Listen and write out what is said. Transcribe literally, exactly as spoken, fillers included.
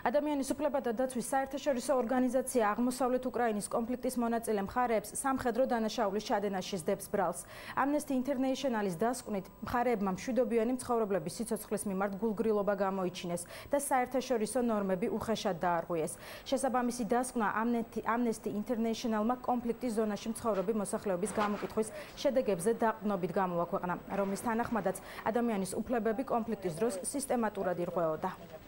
ადამიანის უფლებათა დაცვის საერთაშორისო ორგანიზაცია აღმოსავლეთ უკრაინის კონფლიქტის მონაწილე მხარეებს სამხედრო დანაშაულის ჩადენაში სდებს ბრალს. Amnesty International-ის დასკვნით, მხარეებმა მშვიდობიანი მცხოვრებლების სიცოცხლის მიმართ გულგრილობა გამოიჩინეს და საერთაშორისო ნორმები უხეშად დაარღვიეს. შესაბამისი დასკვნა Amnesty International-მა კონფლიქტის ზონაში მცხოვრები მოსახლეობის გამოკითხვის შედეგებზე დაყრდნობით გამოაქვეყნა, რომლის თანახმადაც ადამიანის უფლებები კონფლიქტის დროს სისტემატურად ირღვეოდა.